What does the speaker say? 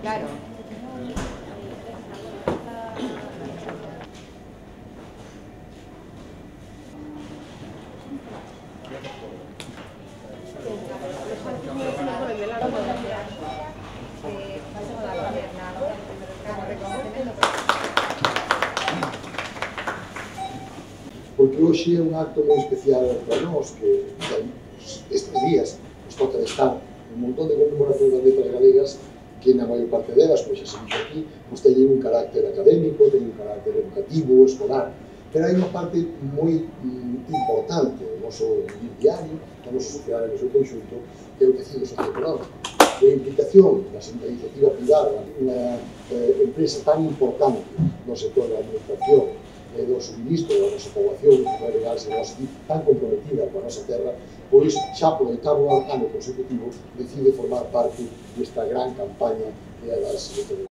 Claro. Porque hoxe é un acto moi especial para nós, que estes días nos toca de estar un montón de conmemoracións das letras galegas que na maior parte delas, como xa se dixo aquí, pues teñen un carácter académico, teñen un carácter educativo, escolar, pero hai unha parte moi importante do noso diario, da nosa sociedade no seu conxunto, que é o tecido socioeconómico. A implicación da iniciativa privada, unha empresa tan importante no sector da administración, do suministro da nosa poboación, tan comprometida coa nosa terra, pois xa polo 8º ano consecutivo decide formar parte desta gran campaña que é das letras